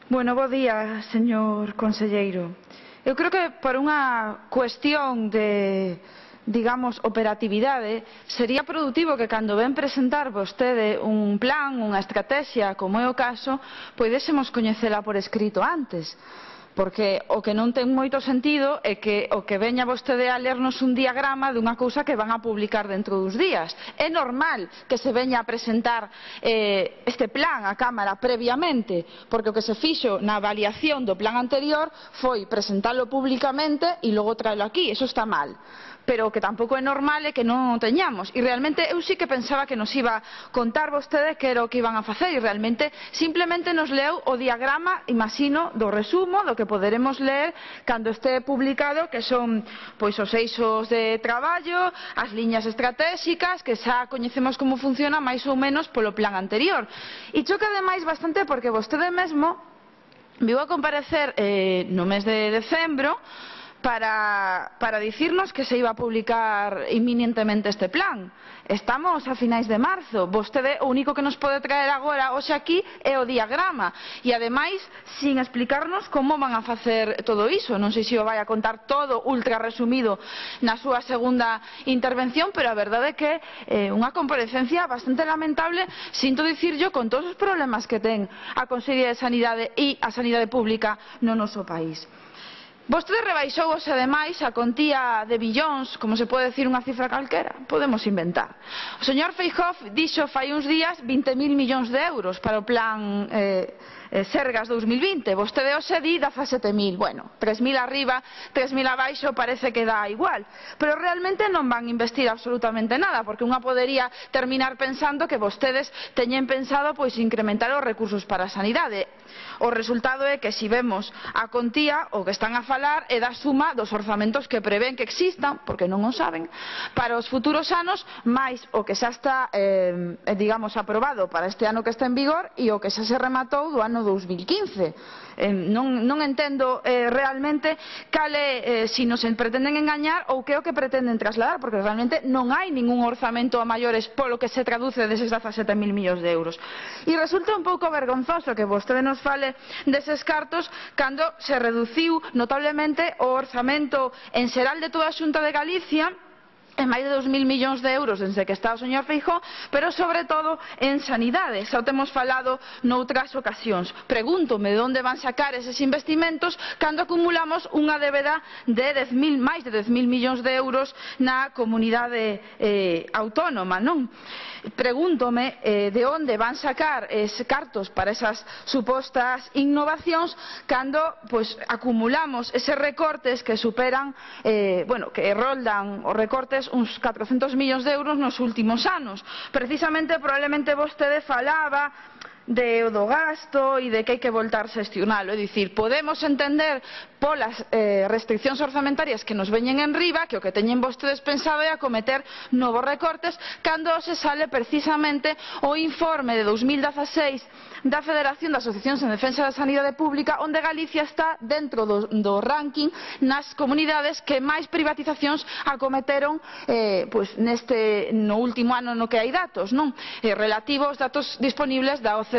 Bo día, señor conselleiro. Eu creo que por unha cuestión de, digamos, operatividade, sería produtivo que cando ven presentar vostede un plan, unha estrategia, como é o caso, poidésemos coñecela por escrito antes. Porque o que non ten moito sentido é que o que veña vostede a lernos un diagrama dunha cousa que van a publicar dentro dos días. É normal que se veña a presentar este plan á Cámara previamente, porque o que se fixo na avaliación do plan anterior foi presentalo públicamente e logo traelo aquí. Eso está mal. Pero o que tampouco é normal é que non o teñamos. E realmente eu sí que pensaba que nos iba a contar vostede que era o que iban a facer e realmente simplemente nos leu o diagrama, imagino, do resumo do que poderemos ler cando este publicado, que son pois os eixos de traballo, as liñas estratégicas, que xa coñecemos como funciona máis ou menos polo plan anterior. E choca ademais bastante porque vostede mesmo viu a comparecer no mes de decembro para dicirnos que se iba a publicar inminentemente este plan. Estamos a finais de marzo. Vostede o único que nos pode traer agora hoxe aquí é o diagrama e ademais sin explicarnos como van a facer todo iso. Non sei se o vai a contar todo ultra resumido na súa segunda intervención, pero a verdade é que é unha comparecencia bastante lamentable, sinto dicirlo, con todos os problemas que ten a Consellería de Sanidade e a sanidade pública no noso país. Vostede rebaixou hoxe ademais a contía de billóns, como se pode decir unha cifra calquera, podemos inventar. O señor Feijóo dixo fai uns días 20.000 millóns de euros para o plan Sergas 2020, vostede hoxe di 17.000, bueno, 3.000 arriba, 3.000 abaixo parece que dá igual, pero realmente non van investir absolutamente nada, porque unha podería terminar pensando que vostedes teñen pensado pois incrementar os recursos para a sanidade. O resultado é que se vemos a contía, o que están a falar é da suma dos orzamentos que prevén que existan, porque non o saben, para os futuros anos, máis o que xa está, digamos, aprobado para este ano que está en vigor e o que xa se rematou do ano 2015. Non entendo realmente cale, si nos pretenden engañar ou que é o que pretenden trasladar, porque realmente non hai ningún orzamento a maiores polo que se traduce deses 17.000 millóns de euros. E resulta un pouco vergonzoso que vostede nos fale deses cartos cando se reduciu notablemente o orzamento en xeral de toda a Xunta de Galicia en máis de 2.000 millóns de euros desde que está o señor Feijóo, pero sobre todo en sanidade. Xa o temos falado noutras ocasións. Pregúntome de onde van sacar eses investimentos cando acumulamos unha débeda de máis de 10.000 millóns de euros na comunidade autónoma, non? Pregúntome de onde van sacar cartos para esas supostas innovacións cando acumulamos eses recortes que superan, que roldan os recortes uns 400 millóns de euros nos últimos anos. Precisamente, probablemente vostede falaba do gasto e de que hai que voltar a xestionalo. É dicir, podemos entender polas restriccións orzamentarias que nos veñen en riba que o que teñen vostedes pensado é acometer novos recortes cando se sale precisamente o informe de 2016 da Federación de Asociacións en Defensa da Sanidade Pública, onde Galicia está dentro do ranking nas comunidades que máis privatizacións acometeron no último ano no que hai datos, non? Relativos aos datos disponibles da OCDE.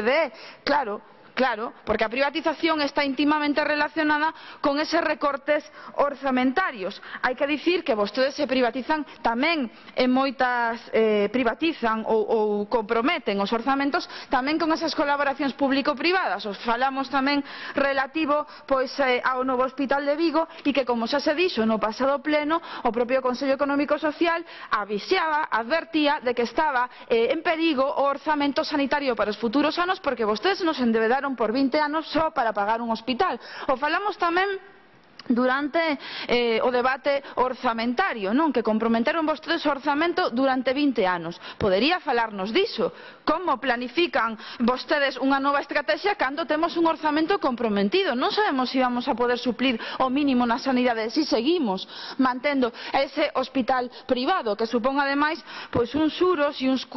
Claro, porque a privatización está íntimamente relacionada con eses recortes orzamentarios. Hai que dicir que vostedes se privatizan tamén en moitas privatizan ou comprometen os orzamentos tamén con esas colaboracións público-privadas. Os falamos tamén relativo ao novo hospital de Vigo e que, como xa se dixo no pasado pleno, o propio Consello Económico e Social avisaba, advertía de que estaba en perigo o orzamento sanitario para os futuros anos porque vostedes nos endebedaron por 20 anos só para pagar un hospital. O falamos tamén durante o debate orzamentario, non? Que comprometeron vostedes o orzamento durante 20 anos. Podería falarnos diso. Como planifican vostedes unha nova estrategia cando temos un orzamento comprometido? Non sabemos se vamos a poder suplir o mínimo na sanidade se seguimos mantendo ese hospital privado que supón ademais uns xuros e uns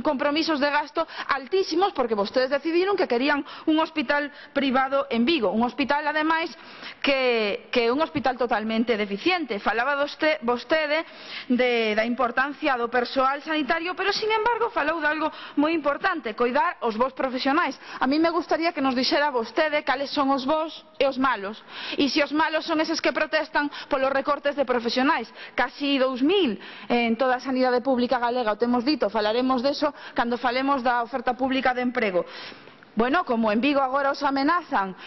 compromisos de gasto altísimos porque vostedes decidiron que querían un hospital privado en Vigo. Un hospital ademais que que é un hospital totalmente deficiente. Falaba vostede da importancia do persoal sanitario, pero, sin embargo, falou de algo moi importante, coidar os bons profesionais. A mí me gustaría que nos dixera vostede cales son os bons e os malos. E se os malos son eses que protestan polos recortes de profesionais. Casi 2000 en toda a sanidade pública galega, o temos dito, falaremos deso cando falemos da oferta pública de emprego. Bueno, como en Vigo agora os amenazan,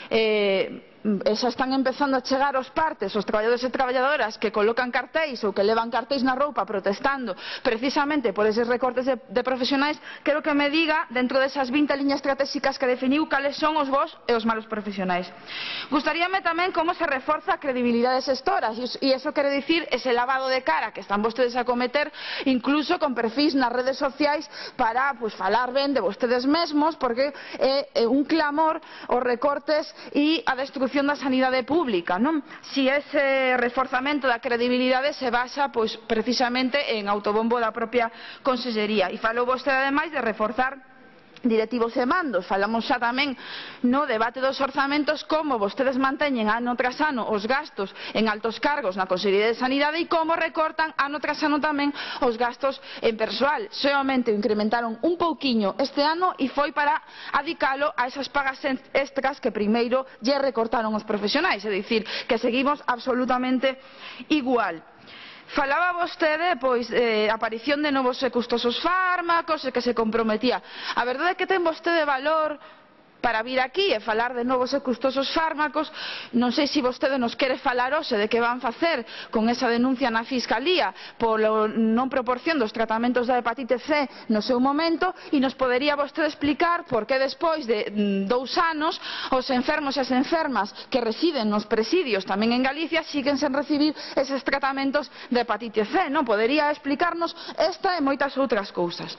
xa están empezando a chegar os partes, os traballadores e traballadoras que colocan cartéis ou que levan cartéis na roupa protestando precisamente por eses recortes de profesionais, quero que me diga, dentro desas 20 liñas estratégicas que definiu, cales son os bons e os malos profesionais. Gustaríame tamén como se reforza a credibilidade xestoras, e iso quere dicir ese lavado de cara que están vostedes a cometer, incluso con perfis nas redes sociais para falar ben de vostedes mesmos, porque é un clamor os recortes e a destrucción da sanidade pública, non? Si ese reforzamento da credibilidade se basa precisamente en autobombo da propia Consellería. E falou vostede ademais de reforzar directivos e mandos. Falamos xa tamén no debate dos orzamentos como vostedes manteñen ano tras ano os gastos en altos cargos na Consellería de Sanidade e como recortan ano tras ano tamén os gastos en persoal. Soamente o incrementaron un pouquiño este ano e foi para adicalo a esas pagas extras que primeiro lle recortaron os profesionais, é dicir, que seguimos absolutamente igual. Falaba vostede a aparición de novos e custosos fármacos e que se comprometía. A verdade é que ten vostede valor para vir aquí e falar de novos e custosos fármacos. Non sei se vostede nos quere falar hoxe de que van facer con esa denuncia na Fiscalía pola non proporción dos tratamentos da hepatite C no seu momento, e nos podería vostede explicar por que despois de 2 anos os enfermos e as enfermas que residen nos presidios tamén en Galicia siguen sen recibir eses tratamentos de hepatite C, non? Podería explicarnos esta e moitas outras cousas.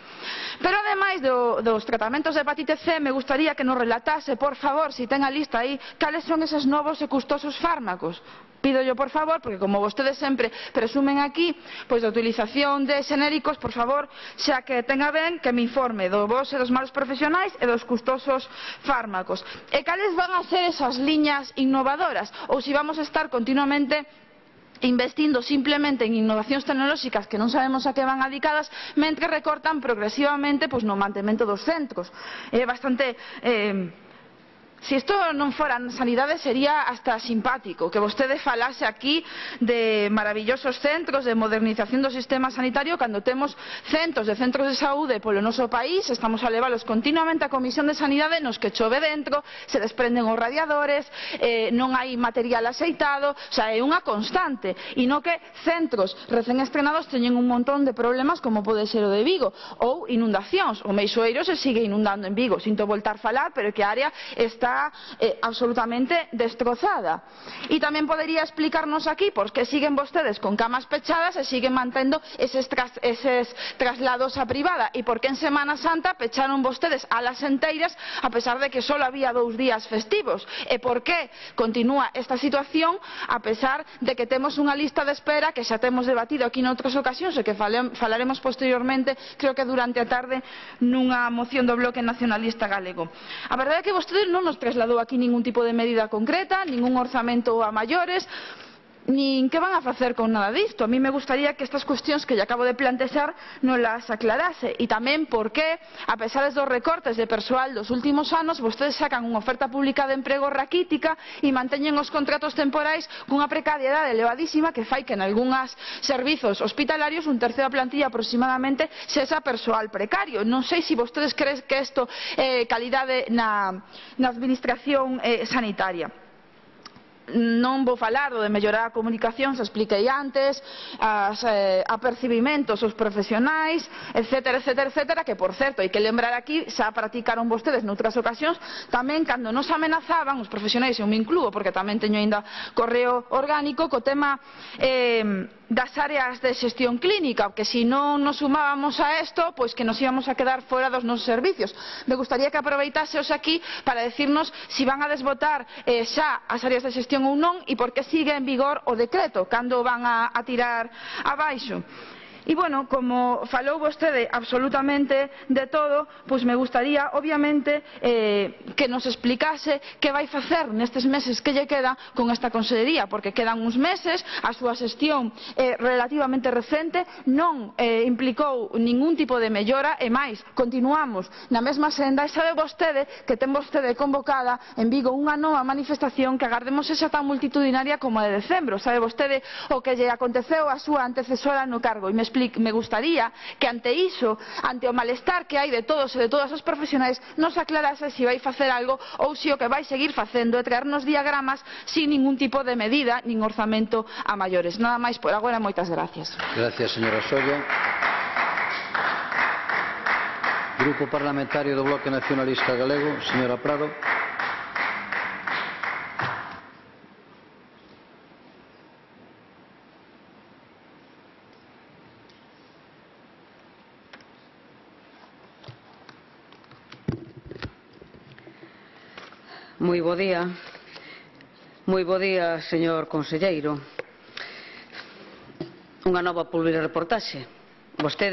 Pero ademais dos tratamentos de hepatite C, me gustaría que nos relatase, por favor, se ten a lista aí, cales son eses novos e custosos fármacos. Pídollo, por favor, porque como vostedes sempre presumen aquí da utilización de xenéricos, por favor, xa que tenga ben que me informe dos bons e dos malos profesionais e dos custosos fármacos. E cales van a ser esas liñas innovadoras? Ou se vamos a estar continuamente investindo simplemente en innovacións tecnolóxicas que non sabemos a que van adicadas, mentre recortan progresivamente no mantemento dos centros. É bastante... Se isto non fora na sanidade sería hasta simpático que vostede falase aquí de maravillosos centros de modernización do sistema sanitario cando temos centos de centros de saúde polo noso país, estamos a leválos continuamente a Comisión de Sanidade nos que chove dentro, se desprenden os radiadores, non hai material axeitado, é unha constante, e non que centros recén estrenados teñen un montón de problemas como pode ser o de Vigo, ou inundacións. O Meixoeiro se sigue inundando en Vigo, sinto voltar falar, pero que a área está absolutamente destrozada. E tamén podería explicarnos aquí por que siguen vostedes con camas pechadas e siguen mantendo eses traslados a privada, e por que en Semana Santa pecharon vostedes alas enteiras a pesar de que só había 2 días festivos, e por que continúa esta situación a pesar de que temos unha lista de espera que xa temos debatido aquí noutras ocasións e que falaremos posteriormente, creo que durante a tarde, nunha moción do Bloque Nacionalista Galego. A verdade é que vostedes non nos trasladou aquí ningún tipo de medida concreta, ningún orzamento a maiores, nin que van a facer con nada disto. A mí me gustaría que estas cuestións que lle acabo de plantexar non las aclarase, e tamén por que, a pesar dos recortes de persoal dos últimos anos, vostedes sacan unha oferta pública de emprego raquítica e manteñen os contratos temporais cunha precariedade elevadísima que fai que en algúns servizos hospitalarios un tercio da plantilla aproximadamente sexa persoal precario. Non sei se vostedes creen que isto é calidade na administración sanitaria. Non vou falar do de mellorar a comunicación, se expliquei antes, apercibimentos aos profesionais, etcétera, etcétera, etcétera, que, por certo, hai que lembrar aquí, xa practicaron vostedes noutras ocasións, tamén cando nos amenazaban, os profesionais, eu me incluo, porque tamén teño ainda correo orgánico, co tema das áreas de xestión clínica, que se non nos sumábamos a isto, pois que nos íbamos a quedar fora dos nosos servicios. Me gustaría que aproveitaseos aquí para decirnos se van a desbotar xa as áreas de xestión ou non, e por que sigue en vigor o decreto, cando van a tirar abaixo. E, bueno, como falou vostede absolutamente de todo, pois me gustaría, obviamente, que nos explicase que vai facer nestes meses que lle quedan con esta consellería, porque quedan uns meses, a súa xestión relativamente recente non implicou ningún tipo de mellora e máis, continuamos na mesma senda e sabe vostede que ten vostede convocada en Vigo unha nova manifestación que agardemos sexa tan multitudinaria como a de decembro. Sabe vostede o que lle aconteceu a súa antecesora no cargo e me gustaría que ante iso, ante o malestar que hai de todos e de todas os profesionais, nos aclarase se vai facer algo ou se o que vai seguir facendo é traernos diagramas sin ningún tipo de medida nin orzamento a maiores. Nada máis por agora, moitas gracias. Gracias, señora Solla. Grupo Parlamentario do Bloque Nacionalista Galego, señora Prado. Moi bo día. Moi bo día, señor conselleiro. Unha nova publireportaxe. Vostede